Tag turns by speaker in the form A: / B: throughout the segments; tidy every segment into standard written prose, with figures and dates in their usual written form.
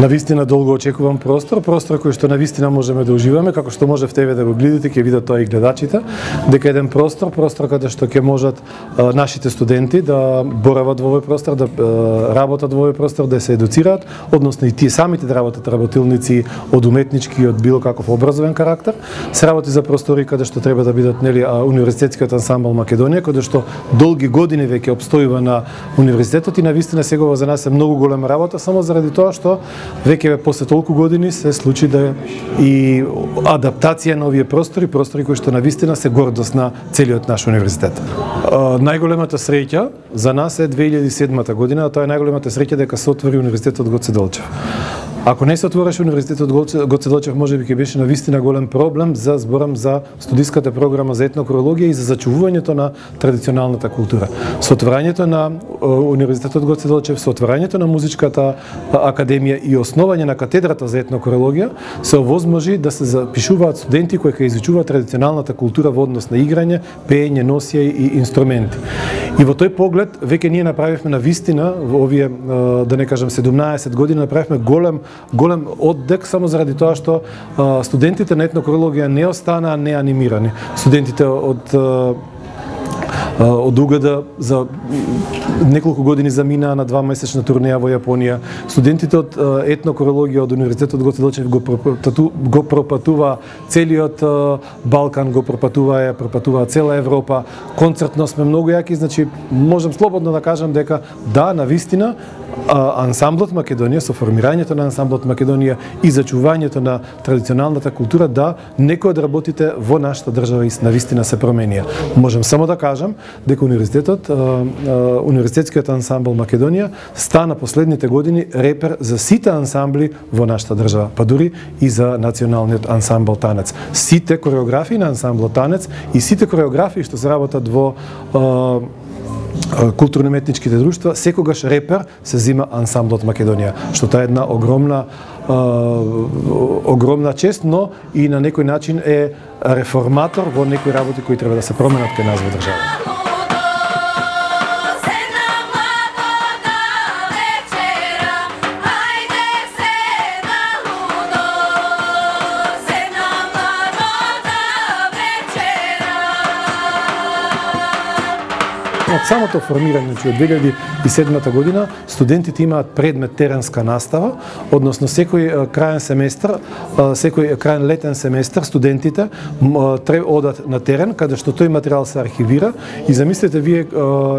A: Навистина долго очекуван простор кој што навистина можеме да уживаме, како што можев тебе да го гледате, ќе видат тоа и гледачите, дека еден простор каде што ќе можат нашите студенти да борават во овој простор, да работат во овој простор, да се едуцираат, односно и тие самите да работат работилници од уметнички и од било каков образовен карактер. Се работи за простори каде што треба да бидат универзитетскиот ансамбл Македонија, каде што долги години веќе обстојува на универзитетот и навистина сегова за нас е многу голема работа, само заради тоа што веќе после толку години се случи да и адаптација на овие простори кои што навистина се гордост на целиот наш универзитет. Најголемата среќа за нас е 2007 година, а тоа е најголемата среќа дека се отвори универзитетот Гоце Делчев. Ако не се отвореше универзитетот Гоце Делчев, можеби ќе беше навистина голем проблем за зборам за студиската програма за етнокрологија и за зачувувањето на традиционалната култура. Со отворањето на универзитетот Гоце Делчев, со отворањето на музичката академија и основање на катедрата за етнокрологија се овозможи да се запишуваат студенти кои ќе изучуваат традиционалната култура во однос на играње, пеење, носија и инструменти. И во тој поглед веќе ние направивме навистина во овие да не кажам 17 години направивме голем оддек само заради тоа што студентите на етнокрологија не останаа неанимирани. Студентите од УГД за неколку години заминаа на 2-месечна турнеја во Јапонија. Студентите од етнокрологија од универзитетот Гоце Делчев го пропатува целиот Балкан, го пропатува цела Европа. Концертно сме многу јаки, значи можам слободно да кажам дека да, навистина ансамблот Македонија, со формирањето на ансамблот Македонија и зачувањето на традиционалната култура, да, некои од работите во нашата држава и навистина се променија. Можам само да кажам дека универзитетскиот ансамбл Македонија стана последните години репер за сите ансамбли во нашата држава, па дури и за националниот ансамбл Танец. Сите кореографии на ансамбл Танец и сите кореографии што се работат во културно-уметничките друштва, секогаш репер се зима ансамблот Македонија, што таа е една огромна чест, но и на некој начин е реформатор во некои работи кои треба да се променат кај нас во државата. Од самото формирање, од 2007 година, студентите имаат предмет теренска настава, односно секој краен летен семестар студентите одат на терен, каде што тој материјал се архивира и замислете вие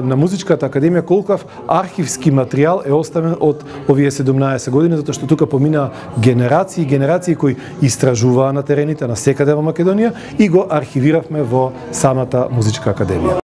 A: на Музичката академија колкав архивски материјал е оставен од овие 17 години, затоа што тука поминаа генерации кои истражуваа на терените на секаде во Македонија и го архивиравме во самата Музичка академија.